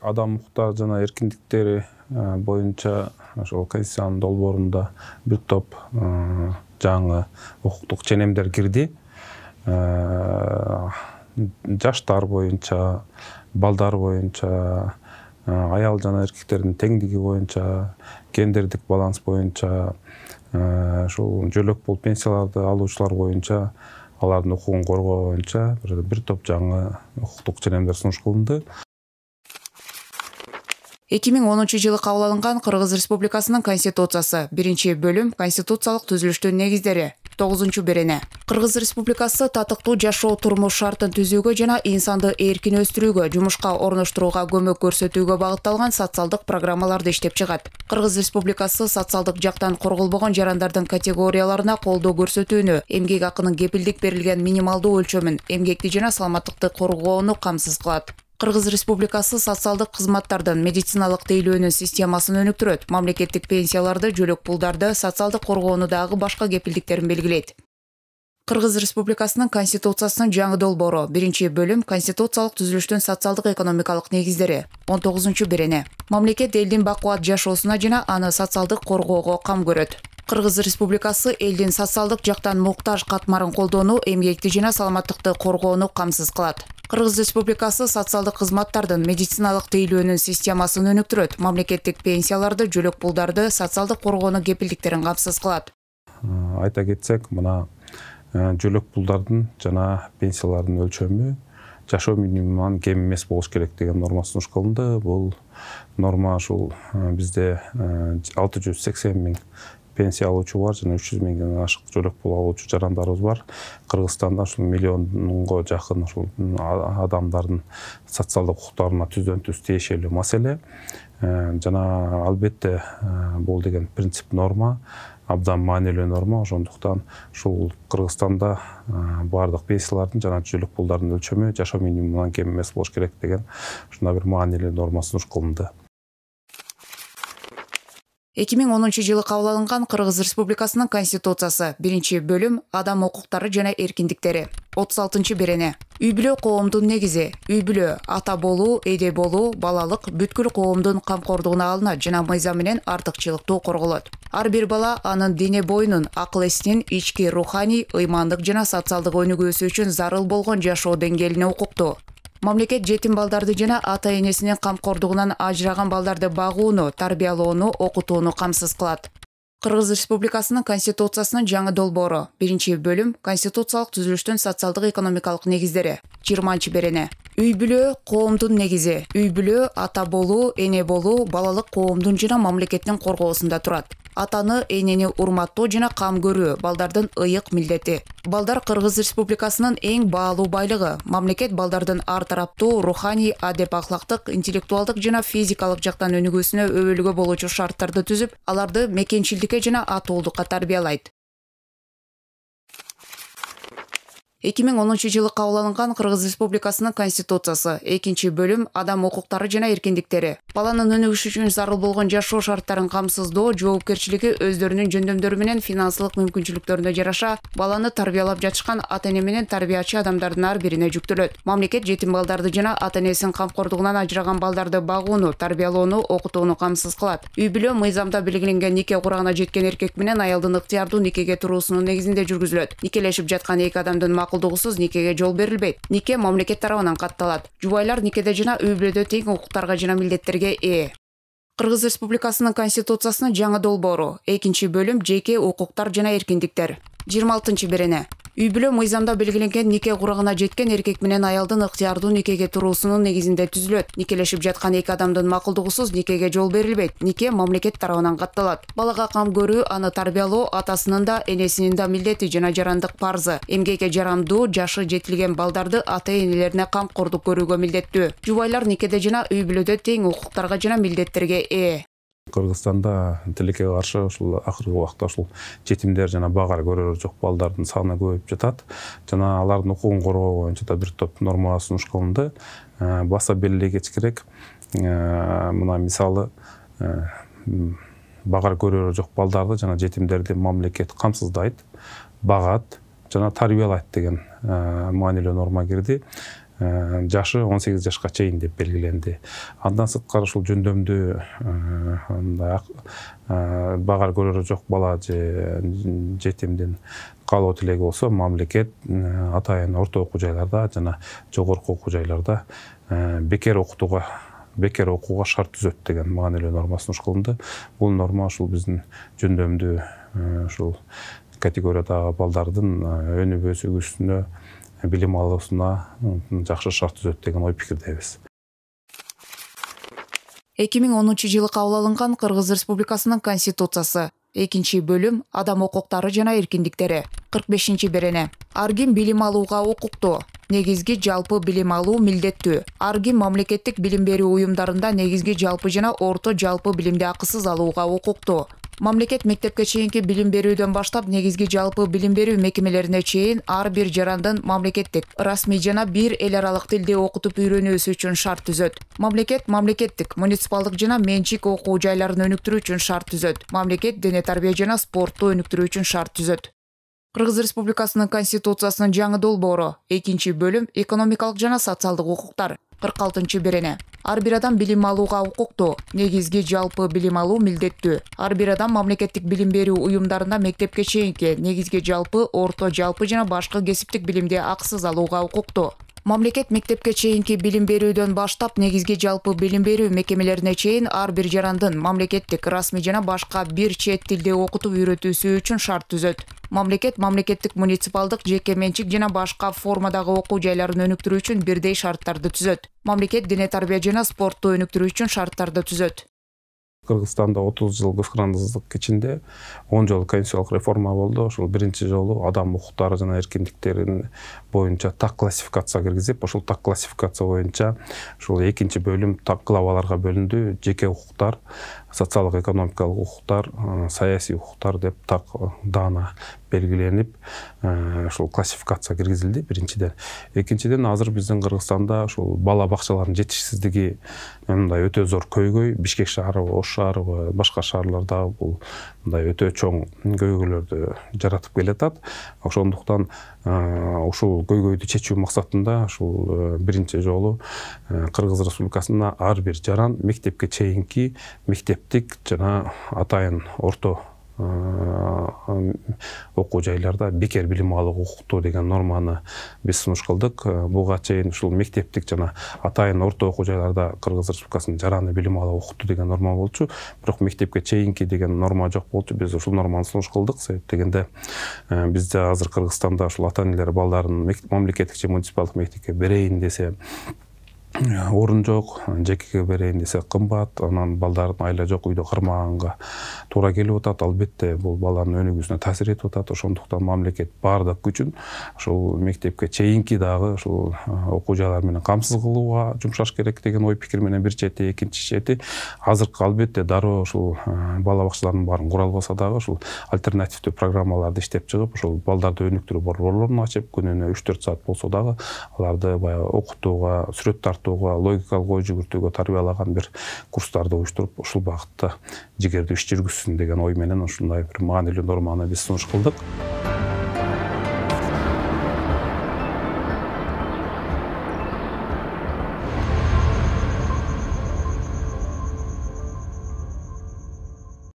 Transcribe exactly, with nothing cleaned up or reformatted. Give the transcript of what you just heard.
адам укуктары жана эркиндиктери боюнча ошол Конституциянын долбоорунда бир топ жаңы укуктук ченемдер кирди. Жаштар боюнча, балдар боюнча, аял жана эркектердин теңдиги боюнча, гендердик баланс боюнча, ошол жөлөк болуп пенсияларды алуучулар боюнча, алардын укугун коргоо боюнча бир топ жаңы укуктук ченемдер сунуш кылынды. эки миң онунчу жылы кабыл алынган Кыргыз Республикасынын Конституциясы биринчи бөлүм Конституциялык түзүлүштүн негиздери тогузунчу берене. Кыргыз Республикасы татыктуу жашоо турмуш шартын түзүүгө жана инсанды эркин өстүрүүгө, жумушка орноштурууга көмөк көрсөтүүгө багытталган социалдык программаларды иштеп чыгат. Кыргыз Республикасы социалдык жактан корголбогон жарандардын категорияларына колдоо көрсөтүүнү, эмгек акынын кепилдик берилген минималдуу өлчөмүн, эмгекти жана саламаттыкты коргоону камсыз кылат. Кыргыз Республикасы социалдык кызматтардын медициналык тейлөөнүн системасын өнүктүрөт, мамлекеттик пенсияларды, жөлөк пулдарды, социалдык коргоону дагы башка кепилдиктерин белгилейт. Кыргыз Республикасынын Конституциясынын жаңы долбоору биринчи бөлүм Конституциялык түзүлүштүн социалдык экономикалык негиздери он тогузунчу берене. Мамлекет элдин бакубат жашоосуна жана аны социалдык коргоого кам көрөт. Кыргыз Республикасы элдин социалдык жактан муктаж катмарын колдоону, эмгекти жана саламаттыкты коргоону камсыз кылат. Кыргыз Республикасы социалдык кызматтардын медициналык тейлөөнүн системасын өнүктүрөт, мамлекеттик пенсияларды, жөлөк пулдарды, социалдык коргоонун кепилдиктерин камсыз кылат. Айта кетсек, мына жөлөк пулдардын жана пенсиялардын өлчөмү жашоо минимумунан кем эмес болуш керек деген норма сунуш кылынды. Бул норма ушул бизде алты жүз сексен миң пенсия алуучу бар жана үч жүз миңден ашык жөлөк пул алуучу жарандарыбыз бар. Кыргызстанда ушул миллионго жакын ушул адамдардын социалдык укуктарына түздөн түз тиешелүү маселе. Жана албетте бул деген принцип норма, абдан маанилүү норма. Ошондуктан ушул Кыргызстанда бардык пенсиялардын жана жөлөк пулдардын өлчөмү жашоо минимумунан кем эмес болуш керек деген ушундай бир маанилүү норма сунуш кылынды. эки миң онунчу жылы кабыл алынган Кыргыз Республикасынын Конституциясы биринчи бөлүм Адам укуктары жана эркиндиктери отуз алтынчы берене. Үй бүлө коомдун негизи. Үй бүлө ата болуу, эне болуу, балалык бүткүл коомдун камкордугуна алынат жана мыйзам менен артыкчылыктуу корголот. Ар бир бала анын дене боюнун, акыл-эсинин ички руханий, ыймандык жана социалдык өнүгүүсү үчүн зарыл болгон жашоо деңгээлине укуктуу. Мамлекет жетим балдарды жана ата-энесинин камкордугунан ажыраган балдарды багууну, тарбиялоону, окутууну камсыз кылат. Кыргыз Республикасынын Конституциясынын жаңы долбоору биринчи бөлүм Конституциялык түзүлүштүн социалдык экономикалык негиздери жыйырманчы берене. Үй бүлө коомдун негизи. Үй бүлө ата болуу, эне болуу, балалык коомдун жана мамлекеттин коргоосунда турат. Атаны, энени урматтоо жана кам көрүү балдардын ыйык милдети. Балдар Кыргыз Республикасынын эң баалуу байлыгы. Мамлекет балдардын ар тараптуу, руханий, адеп ахлактык, интеллектуалдык жана физикалык жактан өнүгүүсүнө өбөлгө болуучу шарттарды түзүп, аларды мекенчилдикке жана атуулукка тарбиялайт. эки миң онунчу жылы кабыл алынган Кыргыз Республикасынын Конституциясы экинчи бөлүм Адам укуктары жана эркиндиктери. Баланын өнүгүшү үчүн зарыл болгон жашоо шарттарын камсыздоо, жоопкерчилиги өздөрүнүн жөндөмдөрү менен финансылык мүмкүнчүлүктөрүнө жараша баланы тарбиялап жатышкан ата-эне менен тарбиячы адамдардын ар бирине жүктөлөт. Мамлекет жетим балдарды жана ата-энесинин камкордугунан ажыраган балдарды багууну, тарбиялоону, окутууну камсыз кылат. Үй бүлө мыйзамда белгиленген нике курагына жеткен эркек менен аялдын ыктыярдуу никеге туруусунун негизинде жүргүзүлөт. Никелешип жаткан эки адамдын макулдугусуз никеге жол берилбейт. Нике мамлекет тарабынан катталат. Жубайлар никеде жана үй бүлөдө тең укуктарга жана милдеттерге ээ. Кыргыз Республикасынын Конституциясынын жаңы долбоору экинчи бөлүм Жеке укуктар жана эркиндиктер жыйырма алтынчы берене. Үй бүлө мыйзамда белгиленген нике курагына жеткен эркек менен аялдын ыктыярдуу никеге туруусунун негизинде түзүлөт. Никелешип жаткан эки адамдын макулдугусуз никеге жол берилбейт. Нике мамлекет тарабынан катталат. Балага кам көрүү, аны тарбиялоо атасынын да, энесинин да милдети жана жарандык парзы. Эмгекке жарамдуу, жашы жетилген балдарды ата-энелерине камкордук көрүүгө милдеттүү. Жубайлар никеде жана үй бүлөдө тең укуктарга жана милдеттерге ээ. Кыргызстанда тилекке каршы ушул акыркы убакта ушул жетимдер жана багар көрөрү жок балдардын саны көбөйүп жатат. Жана алардын укугун коргоо боюнча да бир топ нормалар сунуш кылынды. Баса белгилей кетиш мына мисалы багар көрөрү жок балдарды жана жетимдерди мамлекет камсыздайт, багат жана тарбиялайт деген маанилүү норма кирди. жашы он сегиз жашка чейин деп белгиленди. Андан сырткары ушул жөндөмдүү мындай багар көрөрү жок бала же жетимдин каалоо тилеги болсо, мамлекет атайын орто окуу жайларда жана жогорку окуу жайларда бекер окутууга бекер окууга шарт түзөт деген маанилүү норма сунуш кылынды. Бул норма ушул биздин жөндөмдүү ушул категориядагы балдардын өнүгүү өсүүсүнө, билим алуусуна жакшы шарт түзөт деген ой пикирдебиз. эки миң онунчу жылы кабыл алынган Кыргыз Республикасынын Конституциясы экинчи бөлүм адам укуктары жана эркиндиктери кырк бешинчи берене. Ар ким билим алууга укуктуу. Негизги жалпы билим алуу милдеттүү. Ар ким мамлекеттик билим берүү уюмдарында негизги жалпы жана орто жалпы билимди акысыз алууга укуктуу. Мамлекет мектепке чейинки билим берүүдөн баштап негизги жалпы билим берүү мекемелерине чейин ар бир жарандын мамлекеттик, расмий жана бир эл аралык тилде окутуп үйрөнүүсү үчүн шарт түзөт. Мамлекет мамлекеттик, муниципалдык жана менчик окуу жайларын өнүктүрүү үчүн шарт түзөт. Мамлекет дене тарбия жана спортту өнүктүрүү үчүн шарт түзөт. Кыргыз Республикасынын Конституциясынын жаңы долбоору экинчи бөлүм экономикалык жана социалдык укуктар кырк алтынчы берене. Ар бир адам билим алууга укуктуу. Негизги жалпы билим алуу милдеттүү. Ар бир адам мамлекеттик билим берүү уюмдарында мектепке чейинки, негизги жалпы, орто жалпы жана башка кесиптик билимди акысыз алууга укуктуу. Мамлекет мектепке чейинки билим берүүдөн баштап негизги жалпы билим берүү мекемелерине чейин ар бир жарандын мамлекеттик, расмий жана башка бир чет тилде окутуп үйрөтүүсү үчүн шарт түзөт. Мамлекет мамлекеттик, муниципалдык, жеке менчик жана башка формадагы окуу жайларын өнүктүрүү үчүн бирдей шарттарды түзөт. Мамлекет дене тарбия жана спортту өнүктүрүү үчүн шарттарды түзөт. Кыргызстанда отуз жыл көзкарандык ичинде он жолу конституциялык реформа болду. Ошол биринчи жолу адам укуктары жана эркиндиктерин боюнча так классификация киргизип, ошол так классификация боюнча ушул экинчи бөлүм так главаларга бөлүндү. Жеке укуктар, социалдык экономикалык укуктар, саясий укуктар деп так даана белгиленип, ушул классификация киргизилди биринчиден. Экинчиден, азыр биздин Кыргызстанда ушул бала бакчалардын жетишсиздиги мындай өтө зор көйгөй. Бишкек шаарыбы, Ош шаарыбы, башка шаарларда бул мындай өтө чоң көйгөйлөрдү жаратып келатат. Ошондуктан ушул көйгөйдү чечүү максатында ушул биринчи жолу Кыргыз Республикасында ар бир жаран мектепке чейинки мектептик жана атайын орто окуу жайларда бекер билим алууга укуктуу деген норманы биз сунуш кылдык. Буга чейин ушул мектептик жана атайын орто окуу жайларда Кыргыз Республикасынын жараны билим алууга укуктуу деген норма болчу, бирок мектепке чейинки деген норма жок болчу. Биз ушул норманы сунуш кылдык. Себеп дегенде бизде азыр Кыргызстанда ушул ата-энелер балдарын мамлекеттик же муниципалдык мектепке берейин десе орун жок, жекеге берейин десе кымбат, анан балдардын айла жок, үйдө кармаганга туура келип атат. Албетте бул баланын өнүгүүсүнө таасир этип атат. Ошондуктан мамлекет баардык күчүн ушул мектепке чейинки дагы ушул окуу жайлар менен камсыз кылууга жумшаш керек деген ой пикир менен бир чети, экинчи чети азыркы албетте дароо ушул бала бакчалардын баарын кура албаса дагы ушул альтернативдүү программаларды иштеп чыгып, ушул балдарды өнүктүрүү борборлорун ачып, күнүнө үч төрт саат болсо дагы аларды баягы окутууга, сүрөт тартууга, логикалык ой жүгүртүүгө тарбиялаган бир курстарды уюштуруп, ушул багытта жигердүү иш жүргүзсүн деген ой менен ушундай бир маанилүү норманы биз сунуш кылдык.